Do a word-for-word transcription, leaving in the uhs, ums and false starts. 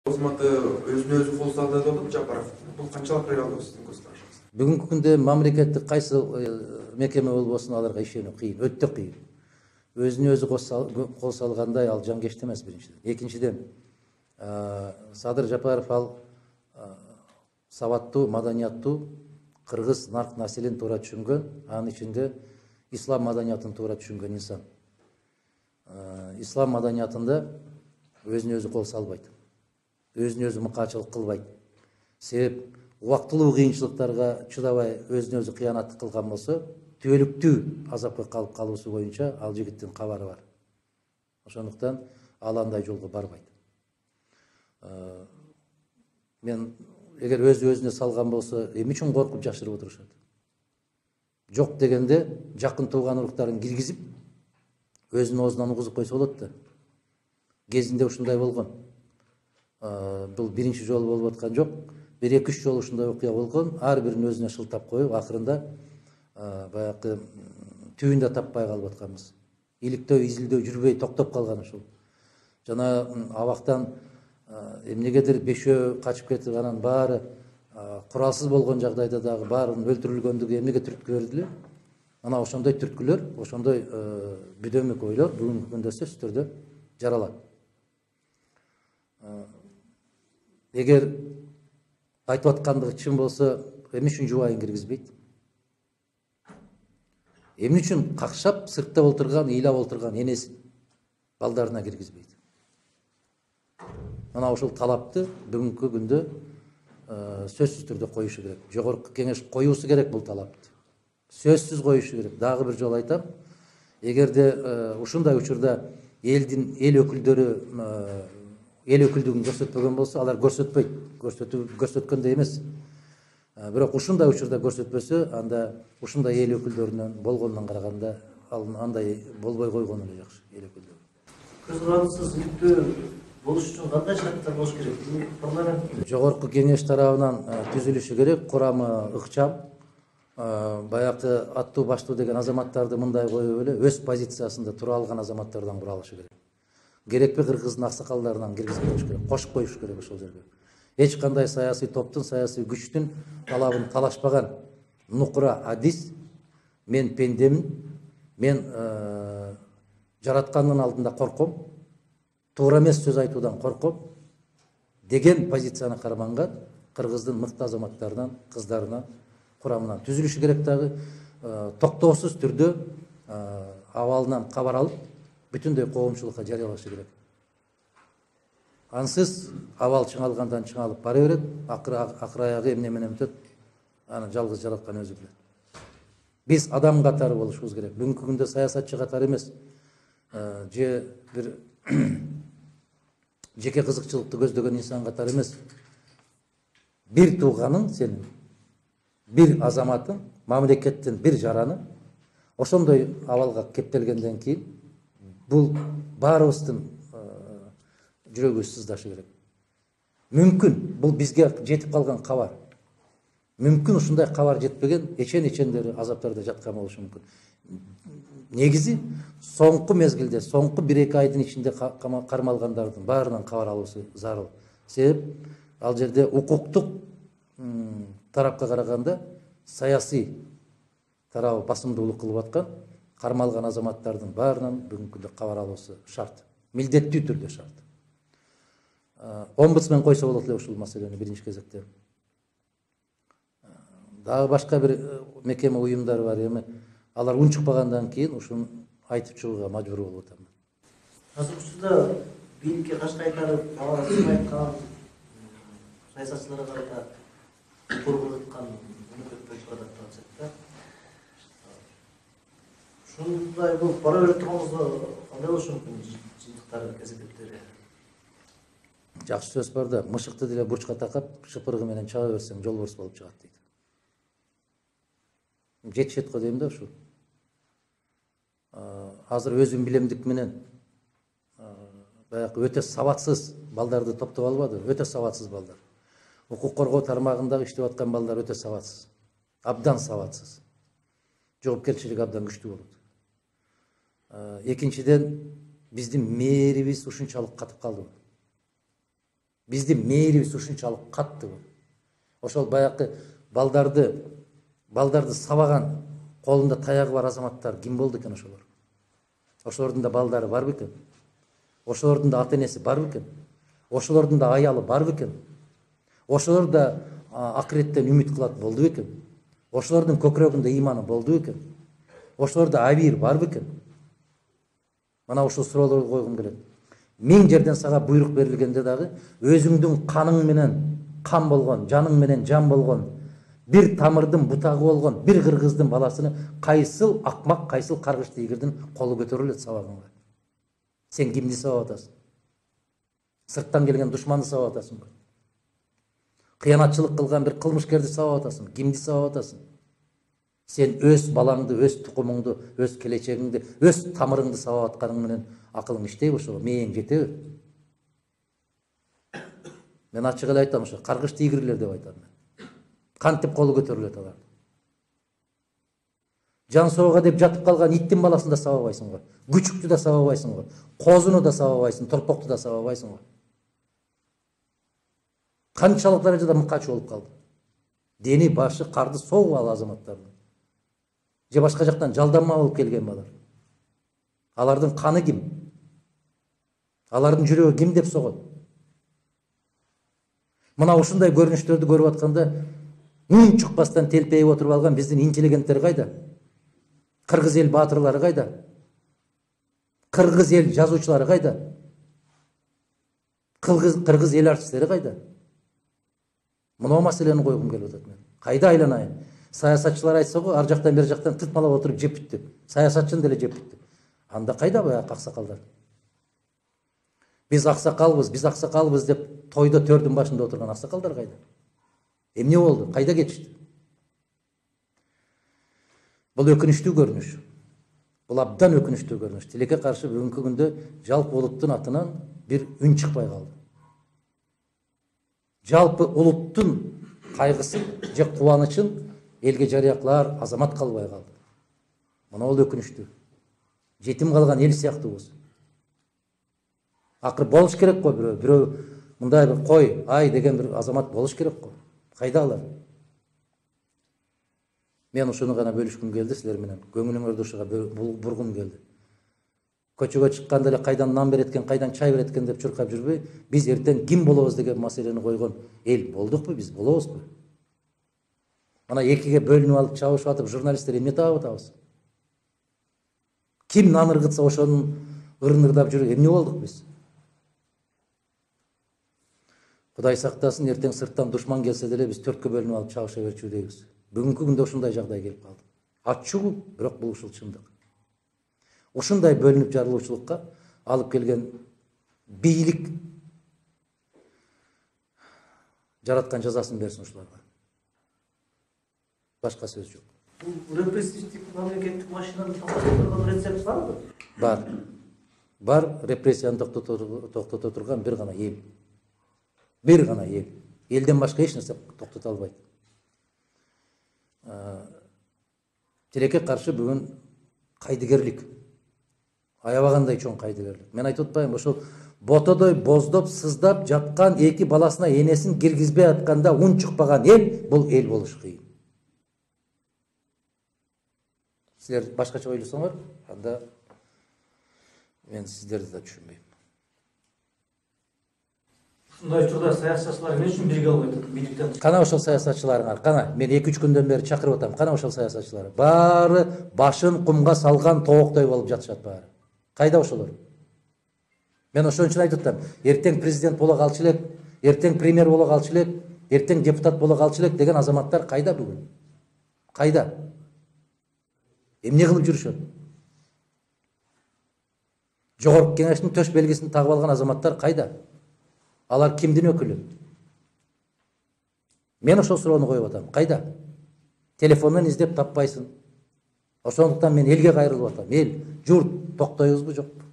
кызматы өзүнө өзү кол салды деп атат Жапаров. Бул канчалык реалдуу сиздин көз карашыңыз? Бүгүнкү күндө мамлекеттик кайсы мекеме болбосун аларга ишенүү кыйын, өтө кыйын. Өзүнө өзү кол салгандай ал жангешти эмес биринчиден. Экинчиден, Садыр Жапаров ал сабаттуу, маданияттуу, кыргыз нарк населин туура түшүнгөн, анын ичинде ислам маданиятын туура түшүнгөн инсан. Ислам маданиятында өзүнө өзү кол салбайт, өзүнө өзү мыкаачылык кылбайт. Себеп убактылуу кыйынчылыктарга чыдабай өзүнө өзү кыянаттык кылган болсо, түбөлүктүү азапка калып калуусу боюнча ал жигиттин кабары бар. Ошондуктан ал андай жолго барбайт. Мен эгер өзү өзүнө салган болсо, эмне үчүн коркуп жашырып отурушат? Жок дегенде жакын тууган уруктарын киргизип, өзүнүн оозунан угузуп койсо болот да. Кезинде ушундай болгон. Бул биринчи жолу болуп аткан жок. Бир эки үч жолу ушундай окуя болгон. Ар бирин өзүнө шылтап коюп, акырында баягы түбүн да таппай калып атканбыз. Иликтөө, изилдөө жүрбөй токтоп калган ушул. Жана абактан эмнегедир бешөө качып кетип, анан баары куралсыз болгон жагдайда дагы баарынын өлтүрүлгөндүгү эмнеге түрткү берди эле? Ана ошондой түрткүлөр, ошондой бүдөмүк ойлор бүгүнкү күндө сөзсүз түрдө жаралат. Эгер айтып аткандыгы чын болсо, эмне үчүн жубайын киргизбейт? Эмне үчүн какшап сыртта отурган, ыйлап отурган энесин балдарына киргизбейт? Ана ошол талапты бүгүнкү күндө сөзсүз түрдө коюшу керек. Жогорку кеңеш коюусу керек бул талапты. Сөзсүз коюшу керек. Дагы бир жолу айтам, эгерде ушундай учурда элдин эл өкүлдөрү эл өкүлдүгүн көрсөтпөгөн болсо, алар көрсөтпөйт, көрсөткөндөй эмес. Бирок ушундай учурда көрсөтпөсө, анда ушундай эл өкүлдөрүнөн болгондон караганда андай болбой койгону эле жакшы, эл өкүлдөрү. Көз карандысыз иликтөө болуш үчүн кандай шарттар болуш керек? Парламент жогорку кеңеш тарабынан түзүлүшү керек, курамы ыкчам, баягы аттуу баштуу деген азаматтарды мындай коюп эле өз позициясында тура алган азаматтардан куралышы керек. Керекпи кыргыздын аксакалдарынан киргизип коюш керек, кошуп коюш керек ошол жерге. Эч кандай саясий топтун, саясий күчтүн талабын талашпаган нукура адис, мен пендемин, мен жараткандын алдында корком, туура эмес сөз айтуудан корком деген позицияны карманган кыргыздын мыкты азаматтарынан, кыздарынан, курамынан түзүлүшү керек. Дагы токтоосуз түрдө абалынан кабар алып, бүтүндөй коомчулукка жарыялашы керек. Ансыз абал чыңалгандан чыңалып бара берет, акыр аягы эмне менен бүтөт, аны жалгыз жараткан өзү билет. Биз адам катары болушубуз керек. Бүгүнкү күндө саясатчы катары эмес, же бир жеке кызыкчылыкты көздөгөн инсан катары эмес. Бир тууганың сенин, бир азаматың, мамлекеттин бир жараны ошондой абалга кептелгенден кийин бул баарыбыздын жүрөгүбүз сыздашы керек. Мүмкүн бул бизге жетип калган кабар. Мүмкүн ушундай кабар жетпеген эчен-эчендери азаптарда жаткан болушу мүмкүн. Негизи соңку мезгилде, соңку бир эки айдын ичинде кармалгандардын баарынан кабар алуусу зарыл. Себеп ал жерде укуктук тарапка караганда саясий тарабы басымдуулук кылып аткан, кармалган азаматтардын баарынан бүгүнкү күндө кабар алуусу шарт. Милдеттүү түрдө шарт. Омбудсмен койсо болот эле ушул маселени биринчи кезекте. Дагы башка бир мекеме уюмдар бар, эми алар унчукпагандан кийин ушуну айтып чыгууга мажбур болуп атам. Азыр учурда бийликке кашка кайтарып, алар айткан саясатчыларга карата коргоп аткан мамлекет болуп атат да. Ушундай болуп бара берип турганыбызда кандай болушу мүмкүн жыйынтыктары, кезектептери? Жакшы сөз бар да, мышыкты деле бурчка такап, шыпыргы менен чаба берсең жолборс болуп чыгат дейт. Жетишет го дейм да ушу. Азыр өзүм билемдик менен баягы өтө сабатсыз балдарды топтоп албады, өтө сабатсыз балдар. Укук коргоо тармагындагы иштеп аткан балдар өтө сабатсыз. Абдан сабатсыз. Жоопкерчилиги абдан күчтүү болот. Экинчиден, биздин мээрибиз ушунчалык катып калды. Биздин мээрибиз ушунчалык каттыбы. Ошол баягы балдарды балдарды сабаган, колунда таягы бар азаматтар ким болду экен ошолор? Ошолордун да балдары барбы экен? Ошолордун да ата энеси барбы экен? Ошолордун да аялы барбы экен? Ошолор да акыреттен үмүт кылат болду экен? Ошолордун көкүрөгүндө ыйманы болду экен? Ошолордо абийир барбы экен? Мына ушул суроолорду койгум келет. Миң жерден сага буйрук берилгенде дагы өзүңдүн каның менен кан болгон, жаның менен жан болгон, бир тамырдын бутагы болгон бир кыргыздын баласыны кайсыл акмак, кайсыл каргыш тийгирдин колу көтөрүлөт сабаганга? Сен кимди сабап атасың? Сырттан келген душманды сабап атасыңбы? Кыянатчылык кылган бир кылмышкерди сабап атасың? Кимди сабап атасың? Сен өз балаңды, өз тукумуңду, өз келечегиңди, өз тамырыңды сабап атканың менен акылың иштейби ошого? Мээң жетеби? Мен ачык эле айтам, ошо каргыш тийгирлер деп айтам мен. Кантип колу көтөрүлөт алар? Жан соого деп жатып калган иттин баласын да сабабайсың го. Күчүктү да сабабайсың го. Козуну да сабабайсың, торпокту да сабабайсың го. Канчалык даражада мыкач болуп калды? Дени башы карды согуп ал азаматтардын. Же башка жактан жалданма болуп келген балар. Алардын каны ким? Алардын жүрөгү ким деп согот? Мына ушундай көрүнүштөрдү көрүп атканда үн чыкпастан телпейип отуруп алган биздин интеллигенттер кайда? Кыргыз эл баатырлары кайда? Кыргыз эл жазуучулары кайда? Кыргыз кыргыз эл артисттери кайда? Мына маселени койгум келип атат мен. Кайда айланайын? Саясатчылар айтса го, ар жактан бер жактан тытмалап отуруп жеп бүтү. Саясатчыны деле жеп бүтү. Анда кайда баягы аксакалдар? Биз аксакалбыз, биз аксакалбыз деп тойдо төрдүн башында отурган аксакалдар кайда? Эмне болду? Кайда кетишти? Бул өкүнүчтүү көрүнүш. Бул абдан өкүнүчтүү көрүнүш. Тилекке каршы бүгүнкү күндө жалпы улуттун атынан бир үн чыкпай калды. Жалпы улуттун кайгысын же кубанычын элге жарыя кылар азамат калбай калды. Мына бул өкүнүчтүү. Жетим калган эл сыяктуубуз. Акыр болуш керек го, бирөө бирөө мындай бир кой, ай деген бир азамат болуш керек го. Кайда алар? Мен ушуну гана бөлүшкүм келди силер менен. Көңүлүңөрдү ушуга бургум келди. Көчөгө чыкканда эле кайдан нан берет экен, кайдан чай берет экен деп чуркап жүрбөй, биз эртең ким болобуз деген маселени койгон эл болдукпу, биз болобузбу? Мына экиге бөлүнүп алып чабышып атып, журналисттер эмне таап атабыз? Ким нан ыргытса ошонун ырнырдап жүрүп, эмне болдук биз? Кудай сактасын, эртең сырттан душман келсе деле биз төрткө бөлүнүп алып чабыша берчү дейбиз. Бүгүнкү күндө ушундай жагдай келип калды. Ачуу, бирок бул ушул чындык. Ушундай бөлүнүп жарылуучулукка алып келген бийлик жараткан жазасын берсин ушуларга. Башка сөз жок. Бул репрессивдик мамлекеттик машинаны токтотууга рецепт барбы? Бар. Бар, репрессияны токтото турган бир гана эл. Бир гана эл. Элден башка эч нерсе токтото албайт. Тилекке каршы бүгүн кайдыгерлик, аябагандай чоң кайдыгерлик. Мен айтып атпаймынбы, ошол ботодой боздоп, сыздап жаткан эки баласына энесин киргизбей атканда ун чыкпаган эл, бул эл болуш кыйын. Силер башкача ойлосоңор, анда мен сиздерди да түшүнбөйм. Ушундай учурда саясатчылар эмне үчүн бирге албайт бийликтен? Кана ошол саясатчыларыңар, кана мен эки үч күндөн бери чакырып атам. Кана ошол саясатчылар. Баары башын кумга салган тооктой болуп жатышат баары. Кайда ошолор? Мен ошон үчүн айтып атам. Эртең президент боло калчу элек, эртең премьер боло калчу элек, эртең депутат боло калчу элек деген азаматтар кайда бүгүн? Кайда? Эмне кылып жүрүшөт? Жогорку кеңештин төш белгисин тагып алган азаматтар кайда? Алар кимдин өкүлү? Мен ошол суроону коюп атам. Кайда? Телефондон издеп таппайсың. Ошондуктан мен элге кайрылып атам. Эл, журт, токтойбузбу жокпу?